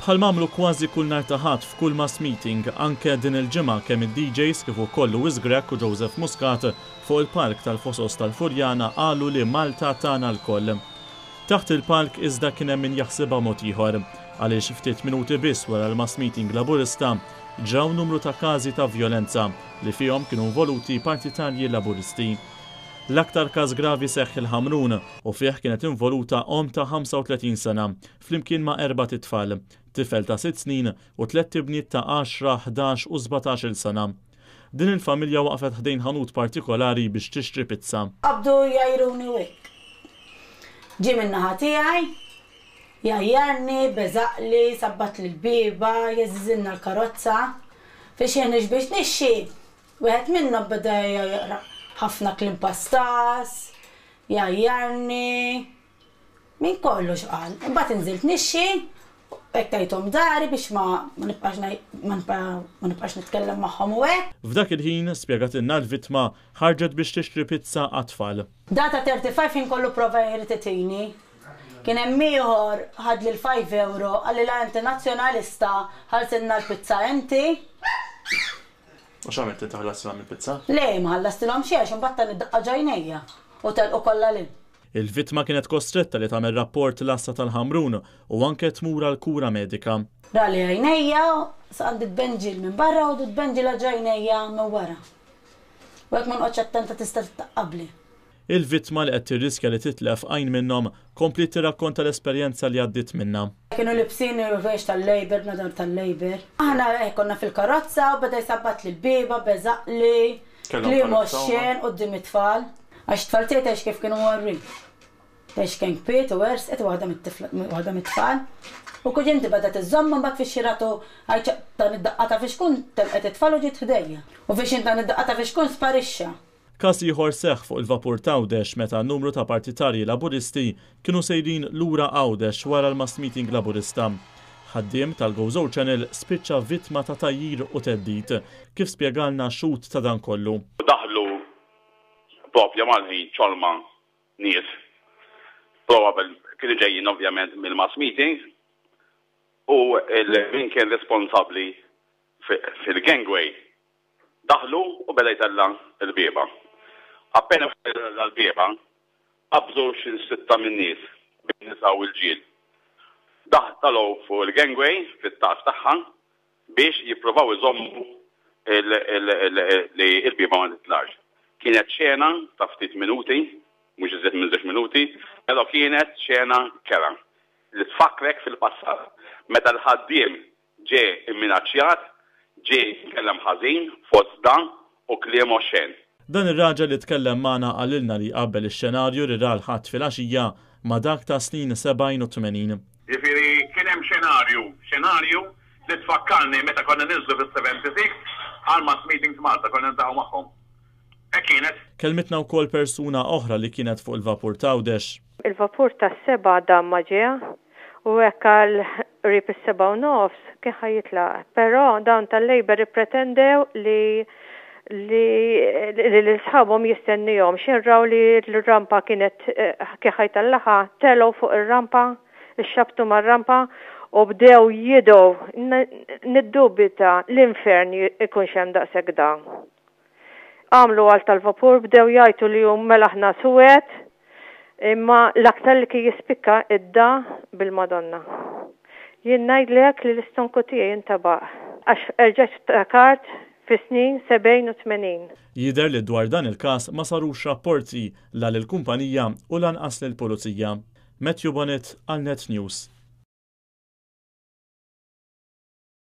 Bħal m'għamlu kważi kull nhar ta' Ħadd f'kull mass meeting, anke din il-ġimgħa kemm id-DJs kif ukoll Louis Grech u Joseph Muscat fuq il-palk tal-Fosos tal-Furjana qalu li Malta tagħna lkoll. Taħt il-palk iżda kien hemm min jaħsibha mod ieħor, għaliex ftit minuti biss wara l-mass meeting Laburista ġraw numru ta' każi ta' vjolenza li fihom kienu involuti partitarji Laburisti. L-aktar każ gravi seħħ il-Ħamrun u fih kienet involuta omm ta' 35 sena flimkien ma' erbat itfal, tifel ta' sitt snin u tlett ibniet ta' għaxra, 11 u 17-il sena. Din il-familja waqfet ħdejn ħanut partikolari biex tixtri pizza. Qabdu jgħajruni u hekk. Ġie min-naħa tiegħi, jgħajjarni, beżaqli, sabbatli l-bieba, jeżżilna l-karozza. Fiex ħin biex nixxi, Wieħed minnhom beda jaqra ħafna kliem pastas, jgħajjarni, minn kollox qal. Imbagħad inżilt nixxi, hekk tajthom dari biex ma nibqax ma nibqax nitkellem magħhom u hekk. F'dak il-ħin, spjegatilna l-vittma, ħarġet biex tixtri pizza għat-tfal. Data 35 ħin kollu prova jrid itini. Kien hemm ieħor ħadli l-five euro qalli la inti nazzjonalista ħallsilna l-pizza inti. U x'għamilt inti ħallastilhom il-pizza? Le, ma ħallastilhom xejn għax imbagħad tani daqqa ġ'għajnejja u telqu kollha 'l hinn. Il-vittma kienet kostretta li tagħmel rapport l-għassa tal-Ħamrun u anke tmur għal kura medika. Rali għajnejja, sa għandi tbenġil minn barra u tbenġila ġ'għajnejja minn wara. U jekk ma noqgħodx attenta tista' tittaqqabli. Il-vittma li qed tirriskja li titlef għajn minnhom kompliet tirrakkonta l-esperjenza li għaddiet minnha. Kienu libsin il-rwejx tal-Labour, bnadar tal-Labour. Aħna hekk konna fil-karozza u beda jsabbatli l-bieba, beżaqli, kliem oxxen quddiem it-tfal. Għax it-tfal tiegħi tgħix kif kienu mgħorrin. Tgħix kemm kbiet u għersqet waħda mit-tifla waħda mit-tfal. U kuġinti beda tiżżommha mbagħad fix-xi ratu għajt tani d-daqqa ta' fixkun telqet it-tfal u ġiet ħdejja. U fix jien tani d-daqqa ta' fixkun sparixxa. Każ ieħor seħħ fuq il-vapur t'Għawdex meta numru ta' partitarji Laburisti kienu sejrin lura Għawdex wara l-mass meeting Laburista. Ħaddiem tal-Gozo Channel spiċċa vittma ta' tgħajjir u theddid, kif spjegalna xhud ta' dan kollu. Daħlu proprju mal-ħin ċorma nies, probabil kienu ġejjin ovvjament mill-mass meeting, u min kien responsabbli fil-gangway Daħlu u beda jtella' l-bieba. Appena beda jtella' l-bieba, qabżu xi sitta min-nies, bejn nisa u rġiel. Daħ telgħu fuq il-gangway fit-tarf tagħha biex jippruvaw iżommu li l-bieba ma titlax. Kienet xena ta' ftit minuti, mhux iżjed minn żewġ minuti, però kienet xena kerha li tfakkrek fil-passat meta l-ħaddiem Ġie imminaċċjat, ġie jitkellem ħażin fost dan u kliem oxxen. Dan ir-raġel li tkellem magħna qalilna li jqabbel ix-xenarju li ra l-Ħadd filgħaxija ma' dak tas-snin 70 u 80. Jiġifieri kien hemm xenarju, xenarju li tfakkarni meta konna ninżlu fis-76 għal mass meetings Malta, konna niltaqgħu magħhom. Hekk kienet. Kellmitna wkoll persuna oħra li kienet fuq il-vapur t'Għawdex. Il-vapur tas-sebgħa dam ma ġie u hekk għal qrib is-sebgħa u nofs kien ħa jitlaq. Però dawn tal-Labour ippretendew li li lil sħabhom jistennihom. X'ħin raw li l-rampa kienet kien ħa jtellagħha, telgħu fuq ir-rampa, ixxabtu mar-rampa u bdew jidgħu. Niddubita l-infern ikunx hemm daqshekk da. Għamlu għal tal-vapur bdew jgħajtu li hu mela aħna suwed imma l-aktar li kien jispikka id-da bil-Madonna. Jien ngħidlek li l-istonku tiegħi intabaq għax erġajt ftakart fis-snin 70 u 80. Jidher li dwar dan il-każ ma sarux rapporti la lill-kumpanija u lanqas lill-Pulizija. Matthew Bonett għal Net News.